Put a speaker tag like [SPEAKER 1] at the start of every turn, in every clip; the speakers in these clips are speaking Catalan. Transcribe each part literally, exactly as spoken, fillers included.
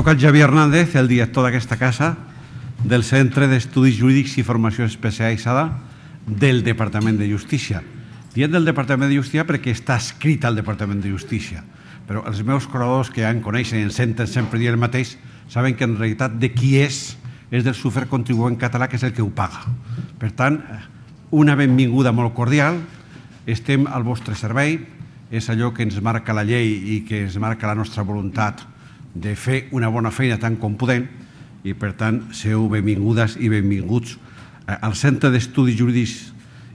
[SPEAKER 1] toca el Xavier Hernández, el director d'aquesta casa, del Centre d'Estudis Jurídics i Formació Especialitzada del Departament de Justícia. Diem del Departament de Justícia perquè està escrit al Departament de Justícia, però els meus col·laboradors que ja en coneixen i en senten sempre dir el mateix saben que en realitat de qui és és del sufert contribuent català, que és el que ho paga. Per tant, una benvinguda molt cordial, estem al vostre servei, és allò que ens marca la llei i que ens marca la nostra voluntat de fer una bona feina tant com podem, i per tant, seu benvingudes i benvinguts al Centre d'Estudis Jurídics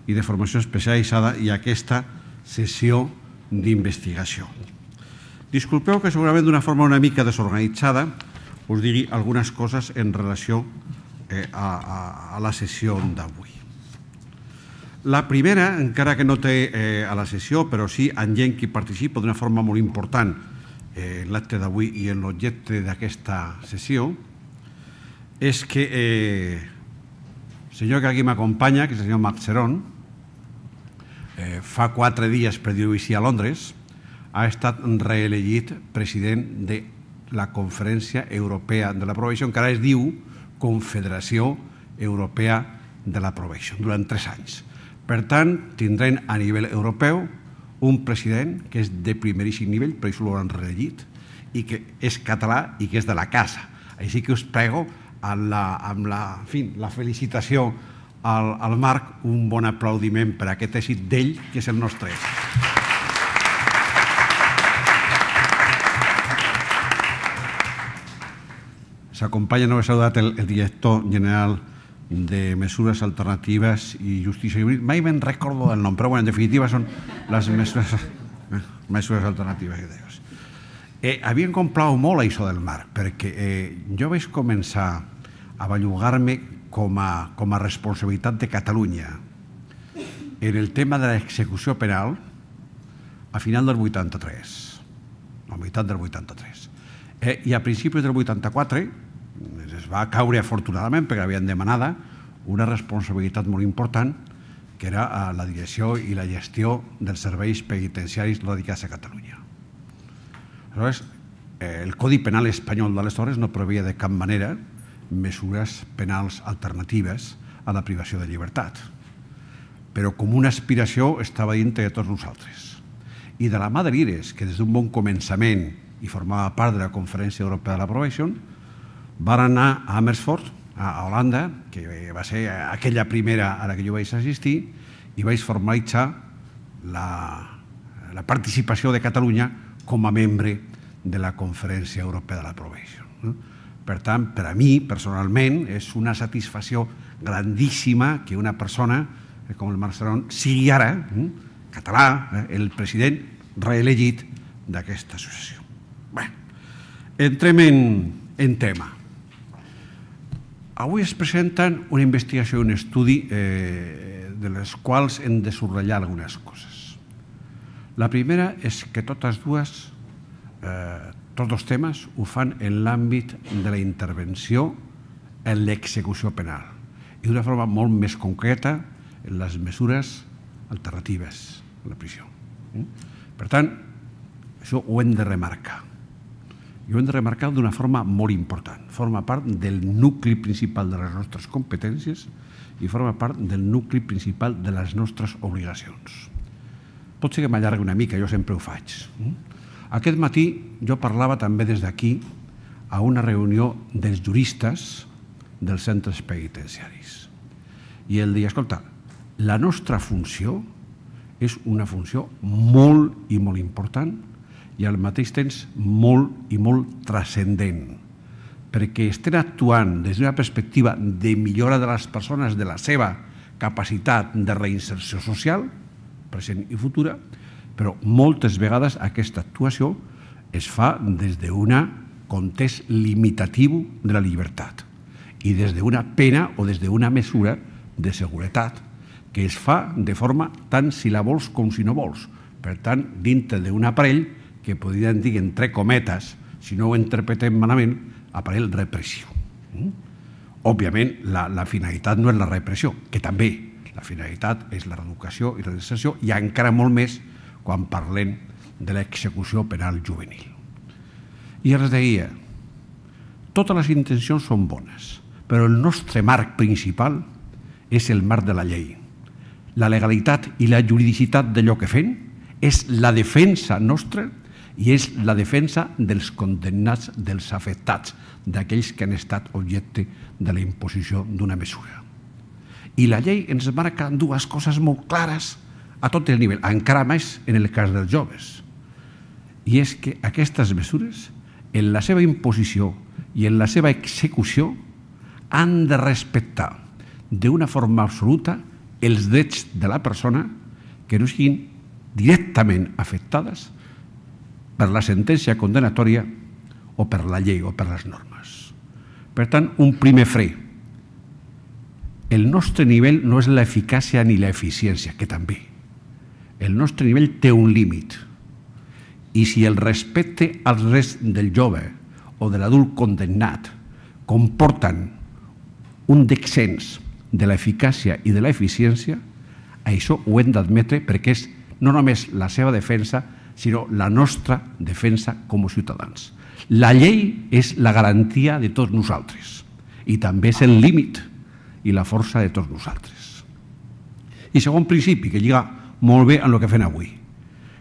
[SPEAKER 1] i de Formació Especialitzada i a aquesta sessió d'investigació. Disculpeu que segurament d'una forma una mica desorganitzada us digui algunes coses en relació a la sessió d'avui. La primera, encara que no té a la sessió, però sí en gent que participa d'una forma molt important en l'acte d'avui i en l'objecte d'aquesta sessió, és que el senyor que aquí m'acompanya, que és el senyor Marc Serón, fa quatre dies, per dir-ho així, a Londres, ha estat reelegit president de la Conferència Europea de la Probation, que ara es diu Confederació Europea de la Probation, durant tres anys. Per tant, tindrem a nivell europeu un president que és de primeríssim nivell, per això l'hauran reelegit, i que és català i que és de la casa. Així que us prego, amb la felicitació al Marc, un bon aplaudiment per aquest èxit d'ell, que és el nostre èxit. S'acompanya, no he saludat, el director general de Mesures Alternatives i Justícia Jurídica. Mai me'n recordo del nom, però en definitiva són les mesures alternatives. A mi em complau molt això del Marc, perquè jo vaig començar a bellugar-me com a responsabilitat de Catalunya en el tema de l'execució penal a final del vuitanta-tres, a meitat del vuitanta-tres. I a principis del vuitanta-quatre es va caure, afortunadament, perquè havien demanada una responsabilitat molt important, que era la direcció i la gestió dels serveis penitenciaris radicats a Catalunya. Aleshores, el Codi Penal espanyol d'aleshores no preveia de cap manera mesures penals alternatives a la privació de llibertat, però com una aspiració estava dintre de tots nosaltres. I de la mà de l'I R E S, que des d'un bon començament i formava part de la Conferència Europea de la Probation, van anar a Amersfoort, a Holanda, que va ser aquella primera a la que jo vaig assistir, i vaig formalitzar la participació de Catalunya com a membre de la Conferència Europea de la Probation. Per tant, per a mi, personalment, és una satisfacció grandíssima que una persona com el Marc Serón sigui ara, català, el president reelegit d'aquesta associació. Bé, entrem en tema. Avui es presenten una investigació i un estudi de les quals hem de subratllar algunes coses. La primera és que totes dues, tots dos temes, ho fan en l'àmbit de la intervenció en l'execució penal i d'una forma molt més concreta en les mesures alternatives a la prisió. Per tant, això ho hem de remarcar. I ho hem de remarcar d'una forma molt important. Forma part del nucli principal de les nostres competències i forma part del nucli principal de les nostres obligacions. Pot ser que m'allargui una mica, jo sempre ho faig. Aquest matí jo parlava també des d'aquí a una reunió dels juristes dels centres penitenciaris. I el deia, escolta, la nostra funció és una funció molt i molt important i al mateix temps molt i molt transcendent, perquè estem actuant des d'una perspectiva de millora de les persones, de la seva capacitat de reinserció social, present i futura, però moltes vegades aquesta actuació es fa des d'un context limitatiu de la llibertat i des d'una pena o des d'una mesura de seguretat que es fa de forma tant si la vols com si no vols. Per tant, dintre d'un aparell que podríem dir, entre cometes, si no ho interpretem malament, aparell repressiu. Òbviament, la finalitat no és la repressió, que també. La finalitat és la reeducació i la reinserció, i encara molt més quan parlem de l'execució penal juvenil. I els deia, totes les intencions són bones, però el nostre marc principal és el marc de la llei. La legalitat i la juridicitat d'allò que fem és la defensa nostra i és la defensa dels condemnats, dels afectats, d'aquells que han estat objecte de la imposició d'una mesura. I la llei ens marca dues coses molt clares a tot el nivell, encara més en el cas dels joves. I és que aquestes mesures, en la seva imposició i en la seva execució, han de respectar d'una forma absoluta els drets de la persona que no siguin directament afectades per la sentència condenatòria o per la llei o per les normes. Per tant, un primer fre. El nostre nivell no és l'eficàcia ni l'eficiència, que també. El nostre nivell té un límit. I si el respecte als drets del jove o de l'adult condemnat comporten un descens de l'eficàcia i de l'eficiència, això ho hem d'admetre perquè és no només la seva defensa, sinó la nostra defensa com a ciutadans. La llei és la garantia de tots nosaltres i també és el límit i la força de tots nosaltres. I segon principi, que lliga molt bé amb el que fem avui,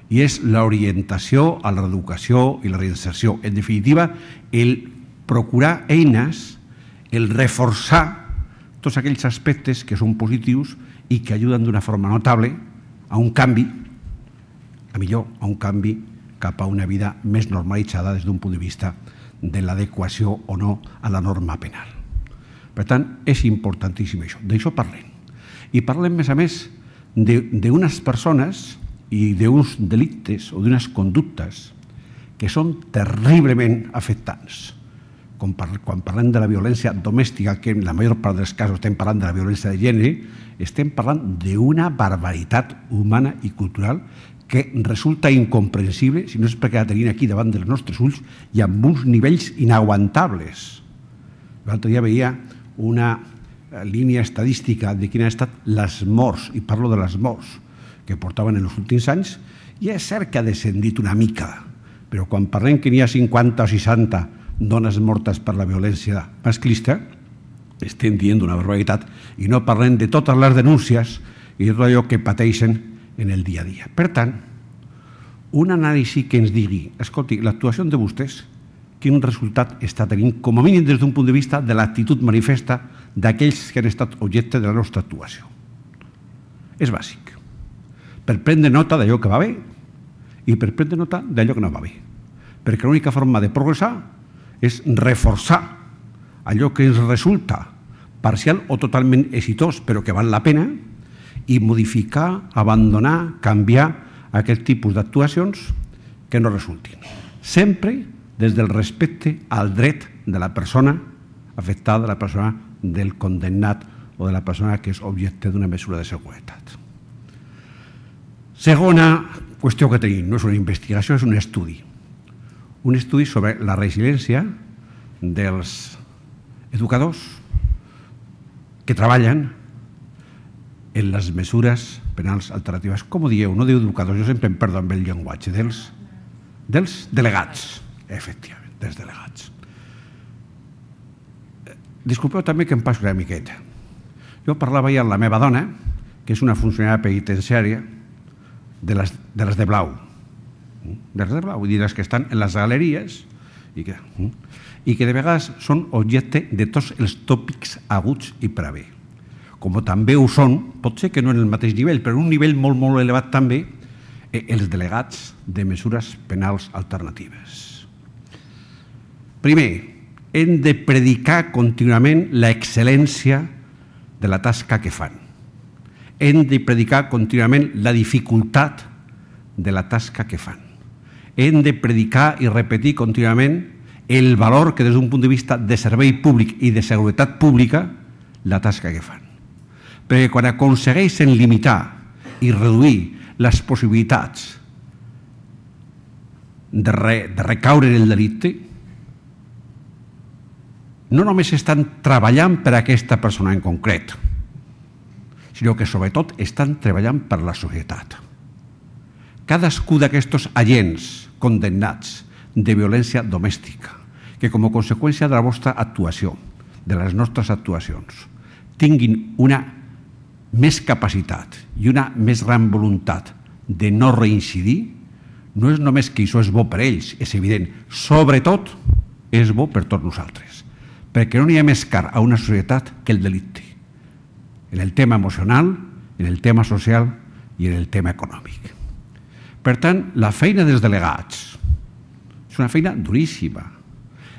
[SPEAKER 1] i és l'orientació a la reeducació i la reinserció. En definitiva, el procurar eines, el reforçar tots aquells aspectes que són positius i que ajuden d'una forma notable a un canvi, a millor, a un canvi cap a una vida més normalitzada des d'un punt de vista de l'adequació o no a la norma penal. Per tant, és importantíssim això. D'això parlem. I parlem, més a més, d'unes persones i d'uns delictes o d'unes conductes que són terriblement afectants. Quan parlem de la violència domèstica, que en la major part dels casos estem parlant de la violència de gènere, estem parlant d'una barbaritat humana i cultural que resulta incomprensible, si no és perquè la tenim aquí davant dels nostres ulls i amb uns nivells inaguantables. L'altre dia veia una línia estadística de quines han estat les morts, i parlo de les morts, que portaven en els últims anys, i és cert que ha descendit una mica, però quan parlem que n'hi ha cinquanta o seixanta dones mortes per la violència masclista, estem dient una barbaritat i no parlem de totes les denúncies i de tot allò que pateixen en el dia a dia. Per tant, un anàlisi que ens digui, escolti, l'actuació de vostès, quin resultat està tenint, com a mínim des d'un punt de vista de l'actitud manifesta d'aquells que han estat objecte de la nostra actuació. És bàsic. Per prendre nota d'allò que va bé i per prendre nota d'allò que no va bé. Perquè l'única forma de progressar és reforçar allò que ens resulta parcial o totalment exitós, però que val la pena, i modificar, abandonar, canviar aquest tipus d'actuacions que no resultin. Sempre des del respecte al dret de la persona afectada, de la persona del condemnat o de la persona que és objecte d'una mesura de seguretat. Segona qüestió que tenim, no és una investigació, és un estudi. Un estudi sobre la resiliència dels educadors que treballen en les mesures penals alternatives. Com ho dieu? No diu educadors, jo sempre em perdo amb el llenguatge. Dels, dels delegats, efectivament, dels delegats. Disculpeu també que em passo una miqueta. Jo parlava ja amb la meva dona, que és una funcionària penitenciària, de les de, les de blau. De les de blau, vull dir, les que estan en les galeries i que, i que de vegades són objecte de tots els tòpics aguts i per haver. Com també ho són, pot ser que no en el mateix nivell, però en un nivell molt, molt elevat també, els delegats de mesures penals alternatives. Primer, hem de predicar contínuament l'excel·lència de la tasca que fan. Hem de predicar contínuament la dificultat de la tasca que fan. Hem de predicar i repetir contínuament el valor que des d'un punt de vista de servei públic i de seguretat pública la tasca que fan. Perquè quan aconsegueixen limitar i reduir les possibilitats de, re, de recaure en el delicte, no només estan treballant per a aquesta persona en concret, sinó que sobretot estan treballant per la societat. Cadascú d'aquests agents condemnats de violència domèstica que com a conseqüència de la vostra actuació, de les nostres actuacions, tinguin una més capacitat i una més gran voluntat de no reincidir, no és només que això és bo per ells, és evident, sobretot és bo per tots nosaltres, perquè no n'hi ha més car a una societat que el delicte, en el tema emocional, en el tema social i en el tema econòmic. Per tant, la feina dels delegats és una feina duríssima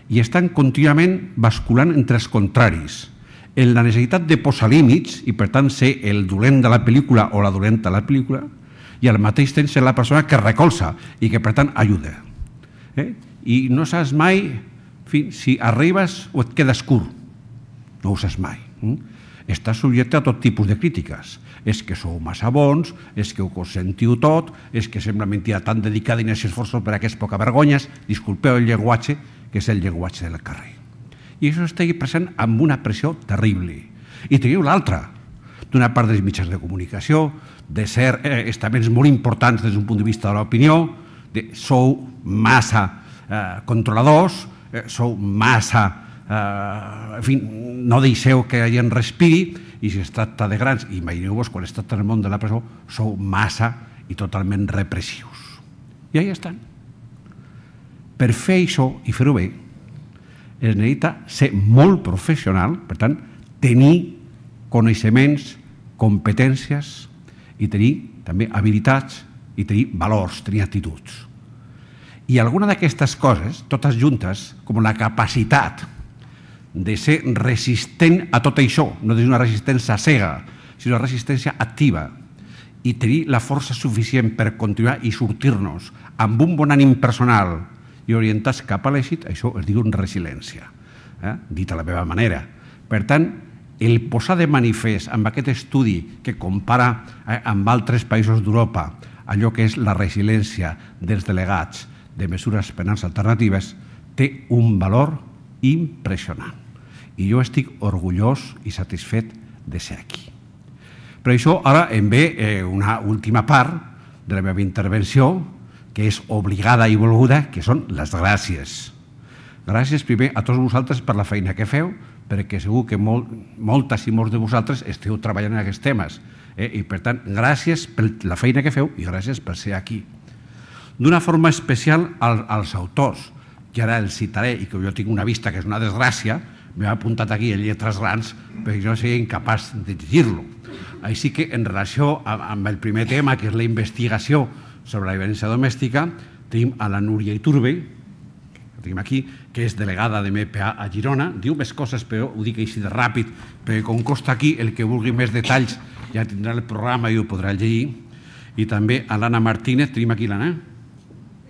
[SPEAKER 1] i estan contínuament basculant entre els contraris, en la necessitat de posar límits i, per tant, ser el dolent de la pel·lícula o la dolenta de la pel·lícula i al mateix temps ser la persona que recolza i que, per tant, ajuda. Eh? I no saps mai fi, si arribes o et quedes curt. No ho saps mai. Eh? Estàs subjecte a tot tipus de crítiques. És que sou massa bons, és que ho consentiu tot, és que sembla mentida tan dedicada i necessitats esforços per a aquestes poca vergonyes. Disculpeu el llenguatge, que és el llenguatge del carrer. I això està present amb una pressió terrible. I teniu l'altra, d'una part dels mitjans de comunicació, de ser eh, estaments molt importants des d'un punt de vista de l'opinió, de sou massa eh, controladors, eh, sou massa, eh, en fi, no deixeu que la gent respiri, i si es tracta de grans, imagineu-vos quan es tracta del món de la presó, sou massa i totalment repressius. I ahí estan. Per fer això i fer-ho bé, es necessita ser molt professional, per tant, tenir coneixements, competències i tenir també habilitats i tenir valors, tenir actituds. I alguna d'aquestes coses, totes juntes, com la capacitat de ser resistent a tot això, no és una resistència cega, sinó una resistència activa, i tenir la força suficient per continuar i sortir-nos amb un bon ànim personal i orientats cap a l'èxit, això es diu resiliència, eh? dit a la meva manera. Per tant, el posar de manifest amb aquest estudi que compara eh, amb altres països d'Europa allò que és la resiliència dels delegats de mesures penals alternatives té un valor impressionant. I jo estic orgullós i satisfet de ser aquí. Per això ara em ve eh, una última part de la meva intervenció, que és obligada i volguda, que són les gràcies. Gràcies primer a tots vosaltres per la feina que feu, perquè segur que molt, moltes i molts de vosaltres esteu treballant en aquests temes. Eh? I per tant, gràcies per la feina que feu i gràcies per ser aquí. D'una forma especial al, als autors, que ara els citaré i que jo tinc una vista que és una desgràcia, m'he apuntat aquí en lletres grans perquè jo no seria incapaç de llegir-lo. Així que en relació amb el primer tema, que és la investigació sobre la violència domèstica, tenim a la Núria Iturbe, que tenim aquí, que és delegada de M P A a Girona. Diu més coses, però ho dic així de ràpid, perquè com costa aquí, el que vulgui més detalls ja tindrà el programa i ho podrà llegir. I també a l'Anna Martínez, tenim aquí l'Anna.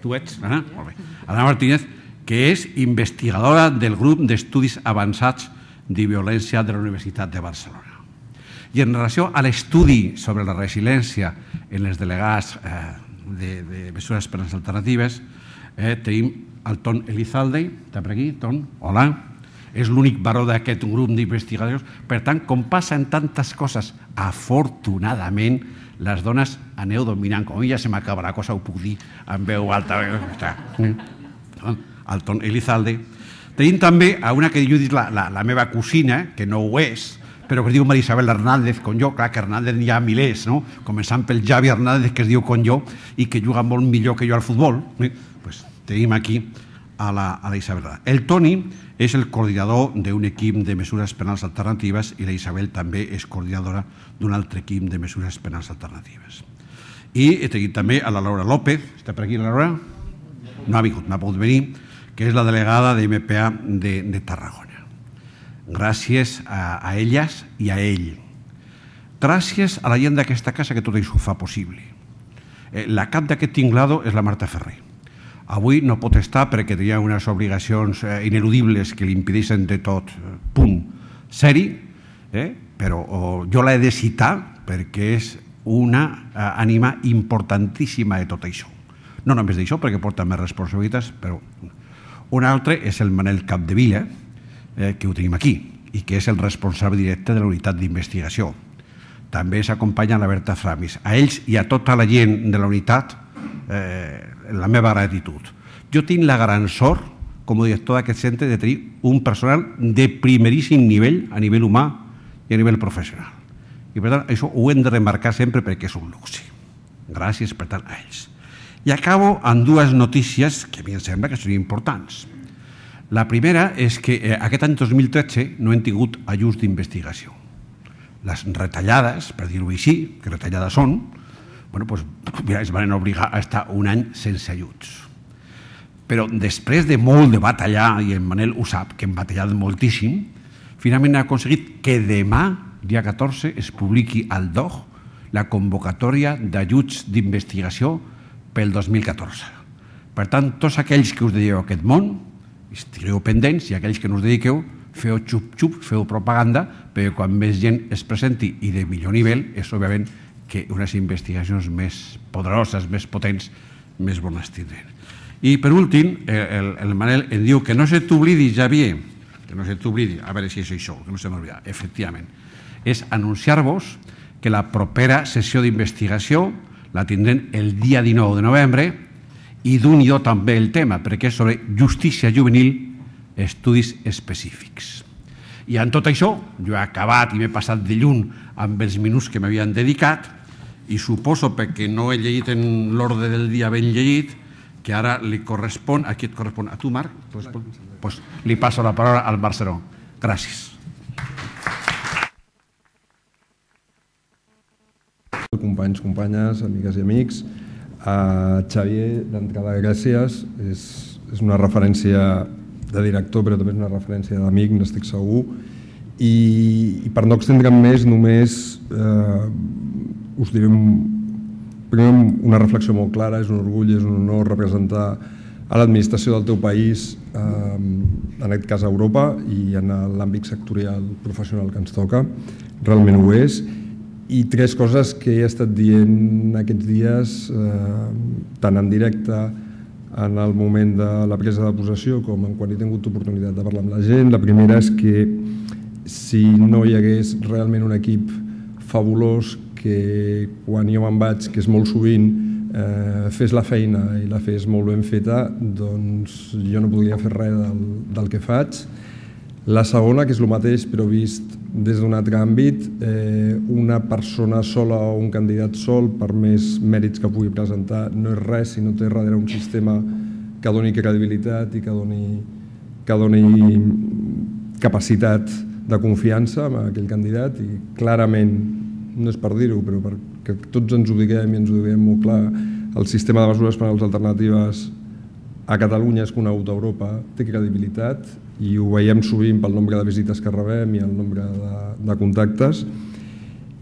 [SPEAKER 1] Tu ets, l'Anna? Molt bé. L'Anna Martínez, que és investigadora del grup d'estudis avançats de violència de la Universitat de Barcelona. I en relació a l'estudi sobre la resiliència en els delegats eh, de, de mesures penals alternatives, eh, tenim el Ton Elizalde, està per aquí, Ton, hola, és l'únic baró d'aquest grup d'investigadors. Per tant, com passa en tantes coses, afortunadament, les dones aneu dominant. Com ja se m'acaba la cosa, ho puc dir en veu alta. El Ton Elizalde. Tenim també a una que jo dic la, la, la meva cosina, que no ho és, però que es diu Maria Isabel Hernández, com jo. Clar que Hernández n'hi ha milers, no? Començant pel Javi Hernández, que es diu com jo, i que juga molt millor que jo al futbol. Eh? Pues tenim aquí a la, a la Isabel. El Toni és el coordinador d'un equip de mesures penals alternatives i la Isabel també és coordinadora d'un altre equip de mesures penals alternatives. I tenim també a la Laura López, està per aquí la Laura? No ha vingut, no ha pogut venir, que és la delegada de M P A de, de Tarragona. Gràcies a, a elles i a ell. Gràcies a la gent d'aquesta casa que tot això ho fa possible. Eh, la cap d'aquest tinglado és la Marta Ferrer. Avui no pot estar perquè tenia unes obligacions eh, ineludibles que li impedeixen de tot eh, punt seri, eh, però oh, jo l'he de citar perquè és una eh, ànima importantíssima de tot això. No només d'això, perquè porta més responsabilitats, però un altre és el Manel Capdevila, eh, que ho tenim aquí, i que és el responsable directe de la unitat d'investigació. També s'acompanya la Berta Framis. A ells i a tota la gent de la unitat, eh, la meva gratitud. Jo tinc la gran sort com a director d'aquest centre, de tenir un personal de primeríssim nivell, a nivell humà i a nivell professional. I per tant, això ho hem de remarcar sempre perquè és un luxe. Gràcies, per tant, a ells. I acabo amb dues notícies que a mi em sembla que són importants. La primera és que aquest any dos mil tretze no hem tingut ajuts d'investigació. Les retallades, per dir-ho així, que retallades són, es van obligar a estar un any sense ajuts. Però després de molt de batallar, i en Manel ho sap, que hem batallat moltíssim, finalment ha aconseguit que demà, dia catorze, es publiqui al D O G la convocatòria d'ajuts d'investigació pel dos mil catorze. Per tant, tots aquells que us dediqueu a aquest món, estigueu pendents, i aquells que no us dediqueu, feu xup-xup, feu propaganda, perquè quan més gent es presenti i de millor nivell, és òbviament que unes investigacions més poderoses, més potents, més bones tindrem. I per últim, el Manel em diu que no se t'oblidi, Xavier, que no se t'oblidi, a veure si és això, que no se m'oblida, efectivament, és anunciar-vos que la propera sessió d'investigació la tindrem el dia dinou de novembre i d'un i do també el tema, perquè és sobre justícia juvenil, estudis específics. I en tot això, jo he acabat i m'he passat de lluny amb els minuts que m'havien dedicat i suposo, perquè no he llegit en l'ordre del dia ben llegit, que ara li correspon, a qui et correspon? A tu, Marc? Doncs li passo la paraula al Barceló. Gràcies.
[SPEAKER 2] Companys, companyes, amigues i amics, Xavier, d'entrada, gràcies. És una referència de director, però també és una referència d'amic, n'estic segur. I per no extendre'm més, només us diré primer una reflexió molt clara. És un orgull, és un honor representar a l'administració del teu país, en aquest cas a Europa, i en l'àmbit sectorial professional que ens toca. Realment ho és. I tres coses que he estat dient aquests dies, tant en directe en el moment de la presa de possessió com quan he tingut oportunitat de parlar amb la gent. La primera és que si no hi hagués realment un equip fabulós que quan jo me'n vaig, que és molt sovint, fes la feina i la fes molt ben feta, doncs jo no podria fer res del que faig. La segona, que és el mateix però vist des d'un altre àmbit, una persona sola o un candidat sol, per més mèrits que pugui presentar, no és res si no té darrere un sistema que doni credibilitat i que doni capacitat de confiança en aquell candidat. I clarament, no és per dir-ho, però perquè tots ens ho diguem i ens ho diguem molt clar, el sistema de mesures penals alternatives a Catalunya és conegut a Europa, té credibilitat i ho veiem sovint pel nombre de visites que rebem i el nombre de contactes.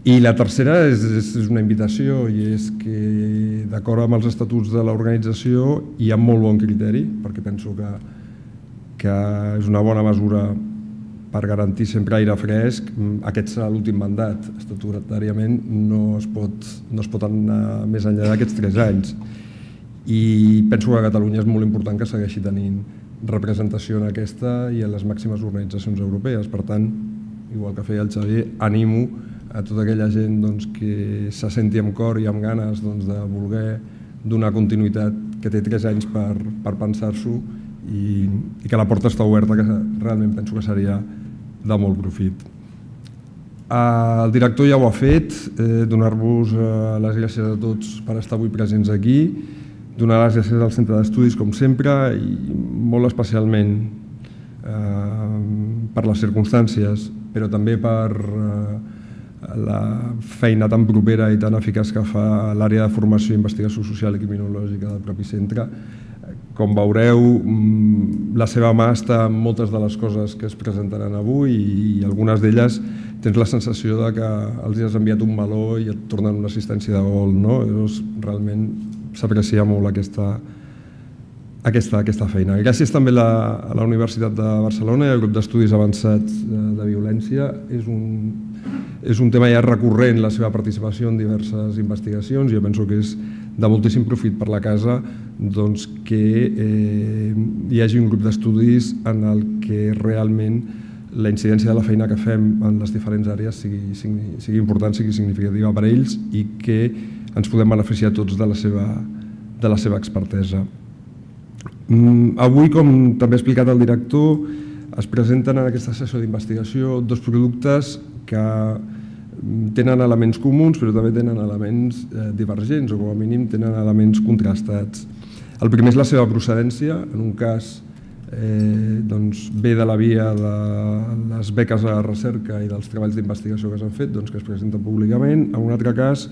[SPEAKER 2] I la tercera és una invitació, i és que d'acord amb els estatuts de l'organització hi ha molt bon criteri, perquè penso que és una bona mesura per garantir sempre aire fresc. Aquest serà l'últim mandat. Estatutàriament no es pot anar més enllà d'aquests tres anys. I penso que a Catalunya és molt important que segueixi tenint representació en aquesta i en les màximes organitzacions europees. Per tant, igual que feia el Xavier, animo a tota aquella gent que se senti amb cor i amb ganes de voler donar continuïtat, que té tres anys per pensar-s'ho i que la porta està oberta, que realment penso que seria de molt profit. El director ja ho ha fet, donar-vos les gràcies a tots per estar avui presents aquí, donar les gràcies al Centre d'Estudis, com sempre, i molt especialment per les circumstàncies, però també per la feina tan propera i tan eficaç que fa l'àrea de formació i investigació social i criminològica del propi centre. Com veureu, la seva mà està en moltes de les coses que es presentaran avui i algunes d'elles tens la sensació que els has enviat un meló i et tornen una assistència de gol. Realment s'aprecia molt aquesta feina. Gràcies també a la Universitat de Barcelona i al grup d'estudis avançats de violència. És un tema ja recurrent la seva participació en diverses investigacions. Jo penso que és de moltíssim profit per la casa que hi hagi un grup d'estudis en el que realment la incidència de la feina que fem en les diferents àrees sigui important, sigui significativa per a ells i que ens podem beneficiar tots de la seva expertesa. Avui, com també ha explicat el director, es presenten en aquesta sessió d'investigació dos productes que tenen elements comuns però també tenen elements divergents o com a mínim tenen elements contrastats. El primer és la seva procedència, en un cas ve de la via de les beques de recerca i dels treballs d'investigació que s'han fet, que es presenten públicament. En un altre cas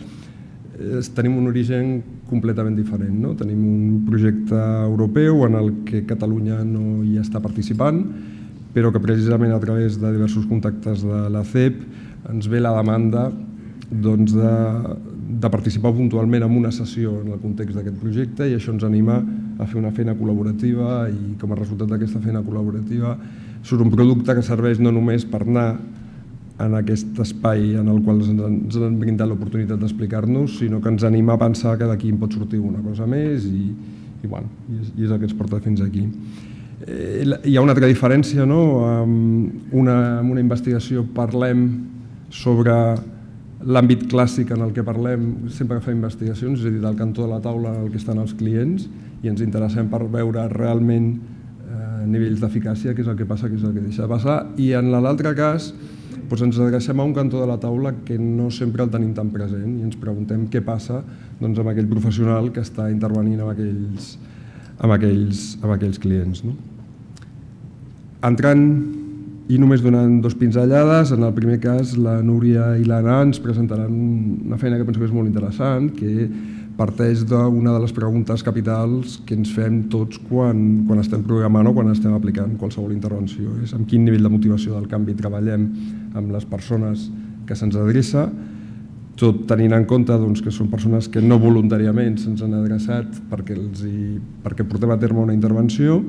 [SPEAKER 2] tenim un origen completament diferent. Tenim un projecte europeu en el que Catalunya no hi està participant, però que precisament a través de diversos contactes de la C E P ens ve la demanda de participar puntualment en una sessió en el context d'aquest projecte i això ens anima a fer una feina col·laborativa i com a resultat d'aquesta feina col·laborativa surt un producte que serveix no només per anar en aquest espai en el qual ens han brindat l'oportunitat d'explicar-nos, sinó que ens anima a pensar que d'aquí en pot sortir una cosa més i és el que ens porta fins aquí. Hi ha una altra diferència, en una investigació parlem sobre l'àmbit clàssic en el que parlem sempre que fem investigacions, és a dir, del cantó de la taula en el que estan els clients i ens interessem per veure realment nivells d'eficàcia, què és el que passa, què és el que deixa de passar, i en l'altre cas ens adrecem a un cantó de la taula que no sempre el tenim tan present i ens preguntem què passa amb aquell professional que està intervenint amb aquells clients. Entrant i només donant dos pinzellades, en el primer cas la Núria i l'Anna ens presentaran una feina que penso que és molt interessant, que parteix d'una de les preguntes capitals que ens fem tots quan estem programant o quan estem aplicant qualsevol intervenció. És amb quin nivell de motivació del canvi treballem amb les persones que se'ns adreça, tot tenint en compte que són persones que no voluntàriament se'ns han adreçat perquè portem a terme una intervenció,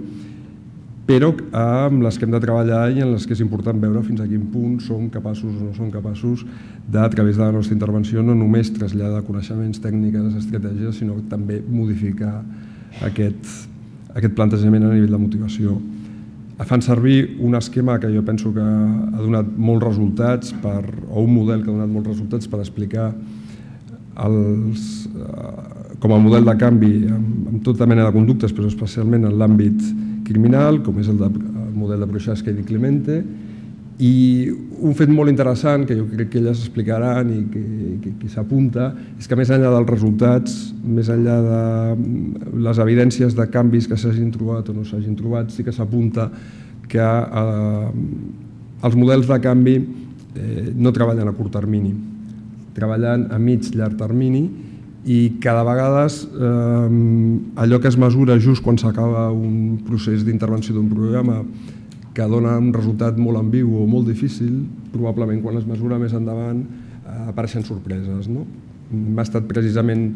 [SPEAKER 2] però amb les que hem de treballar i en les que és important veure fins a quin punt som capaços o no som capaços de, a través de la nostra intervenció, no només traslladar coneixements, tècniques, estratègies, sinó també modificar aquest plantejament a nivell de motivació. Fan servir un esquema que jo penso que ha donat molts resultats, o un model que ha donat molts resultats per explicar com a model de canvi amb tota mena de conductes, però especialment en l'àmbit criminal, com és el model de Prochaska i Di Clemente, i un fet molt interessant que jo crec que elles explicaran i que s'apunta és que més enllà dels resultats, més enllà de les evidències de canvis que s'hagin trobat o no s'hagin trobat, sí que s'apunta que els models de canvi no treballen a curt termini, treballen a mig llarg termini i cada vegada allò que es mesura just quan s'acaba un procés d'intervenció d'un programa que dona un resultat molt ambigu o molt difícil, probablement quan es mesura més endavant apareixen sorpreses. M'ha estat precisament,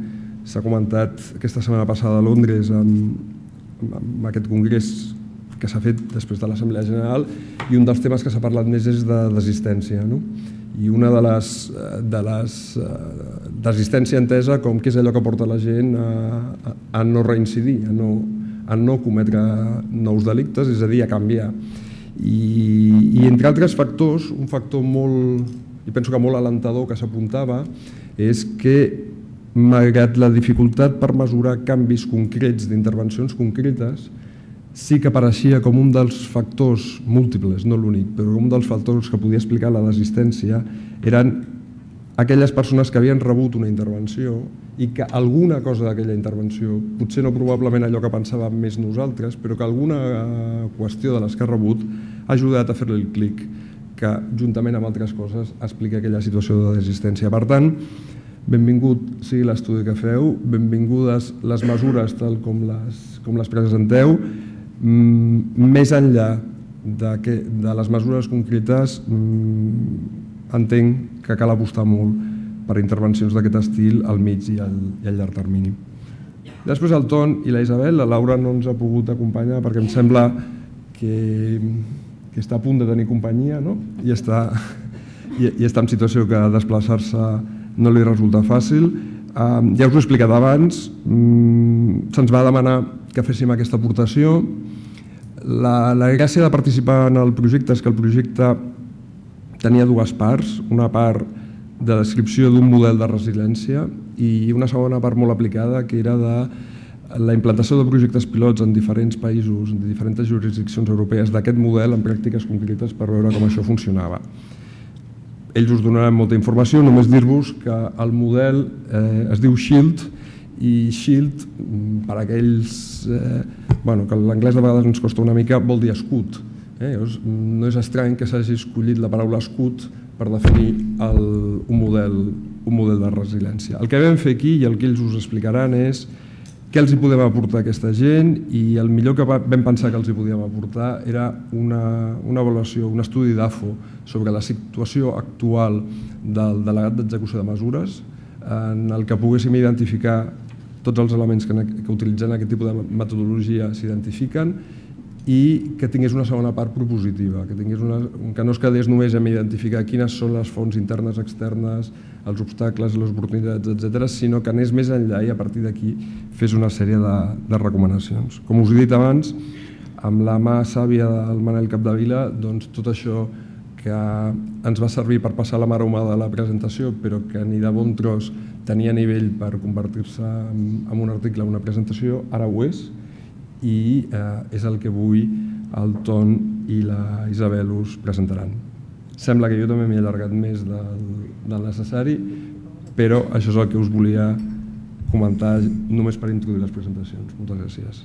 [SPEAKER 2] s'ha comentat aquesta setmana passada a Londres amb aquest congrés que s'ha fet després de l'Assemblea General i un dels temes que s'ha parlat més és de desistència. I una de les desistència entesa com què és allò que porta la gent a no reincidir, a no cometre nous delictes, és a dir, a canviar. I entre altres factors, un factor molt, i penso que molt alentador que s'apuntava, és que malgrat la dificultat per mesurar canvis concrets d'intervencions concretes, sí que apareixia com un dels factors múltiples, no l'únic, però un dels factors que podia explicar la desistència eren aquelles persones que havien rebut una intervenció i que alguna cosa d'aquella intervenció, potser no probablement allò que pensàvem més nosaltres, però que alguna qüestió de les que ha rebut ha ajudat a fer-li el clic, que juntament amb altres coses explica aquella situació de desistència. Per tant, benvingut sigui l'estudi que feu, benvingudes les mesures tal com les presenteu. Més enllà de les mesures concretes, entenc que cal apostar molt per intervencions d'aquest estil al mig i al llarg termini. Després el Ton i la Isabel, la Laura no ens ha pogut acompanyar perquè em sembla que està a punt de tenir companyia i està en situació que desplaçar-se no li resulta fàcil. Ja us ho he explicat abans, se'ns va demanar que féssim aquesta aportació. La gràcia de participar en el projecte és que el projecte tenia dues parts, una part de descripció d'un model de resiliència i una segona part molt aplicada que era la implantació de projectes pilots en diferents països, en diferents jurisdiccions europees d'aquest model en pràctiques concretes per veure com això funcionava. Ells us donaran molta informació, només dir-vos que el model eh, es diu SHIELD, i SHIELD, per aquells eh, bueno, que l'anglès de vegades ens costa una mica, vol dir escut. Eh? No és estrany que s'hagi escollit la paraula escut per definir el, un, model, un model de resiliència. El que vam fer aquí i el que ells us explicaran és què els hi podem aportar a aquesta gent, i el millor que vam pensar que els hi podíem aportar era una, una avaluació, un estudi d'A F O sobre la situació actual del delegat d'execució de mesures, en el que poguéssim identificar tots els elements que, que utilitzant aquest tipus de metodologia s'identifiquen, i que tingués una segona part propositiva, que, tingués una, que no es quedés només en identificar quines són les fonts internes, externes, els obstacles, les oportunitats, etcètera, sinó que anés més enllà i a partir d'aquí fes una sèrie de, de recomanacions. Com us he dit abans, amb la mà sàvia del Manel Capdevila, doncs tot això que ens va servir per passar la mar humada de la presentació, però que ni de bon tros tenia nivell per convertir-se en un article o una presentació, ara ho és, i eh, és el que avui el Ton i la Isabel us presentaran. Sembla que jo també m'he allargat més del, del necessari, però això és el que us volia comentar només per introduir les presentacions. Moltes gràcies.